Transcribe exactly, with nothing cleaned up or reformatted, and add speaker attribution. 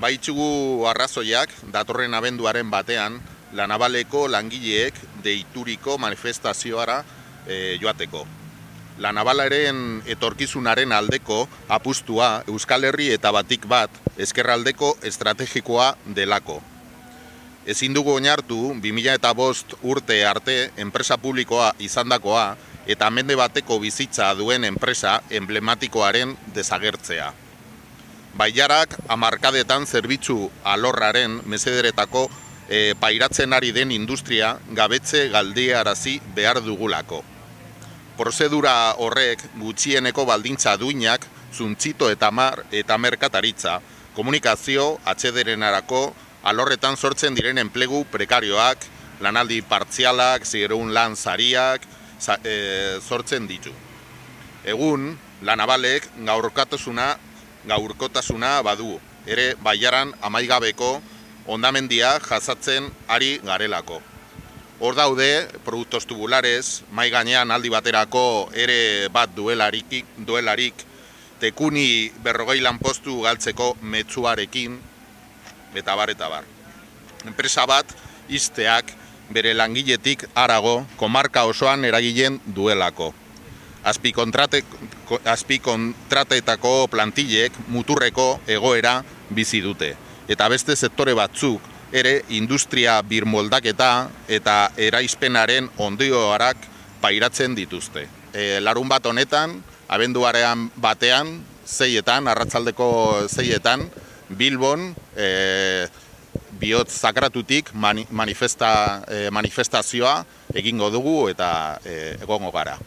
Speaker 1: Baitzugu arrazoiak datorren abenduaren batean La Navaleko langileek deituriko manifestazioara e, joateko. La Navalaren etorkizunaren aldeko apustua Euskal Herri eta batik bat ezkerraldeko estrategikoa delako. Ezin dugu oinartu bi mila bost urte arte enpresa publikoa izandakoa eta mende bateko bizitza duen enpresa emblematikoaren desagertzea. Bailarak hamarkadetan zerbitzu alorraren mesederetako e, pairatzen ari den industria gabetze galdiarazi behar dugulako. Prozedura horrek gutxieneko baldintza duinak, zuntzito eta mar eta merkataritza, komunikazio atxederenarako alorretan sortzen diren enplegu prekarioak, lanaldi partzialak, zigerun lan sariak e, sortzen ditu. Egun, La Navalek gaurkotasuna gaurkotasuna badu, ere bailaran amaigabeko hondamendia jasatzen ari garelako. Hor daude, produktos tubulares, mai gainean aldi baterako ere bat duelarik, duelarik tekuni berrogei lanpostu galtzeko metzuarekin, eta bar, eta bar. Enpresa bat, izteak, bere langiletik harago, komarka osoan eragilen duelako. Azpikontratetako plantillek muturreko egoera bizi dute. Eta beste sektore batzuk ere industria birmoldaketa eta eraispenaren ondorioak pairatzen dituzte. E, larun bat honetan, abenduaren batean, zeietan, arratsaldeko zeietan, Bilbon, e, bihotz sakratutik mani, manifesta, e, manifestazioa egingo dugu eta e, egongo gara.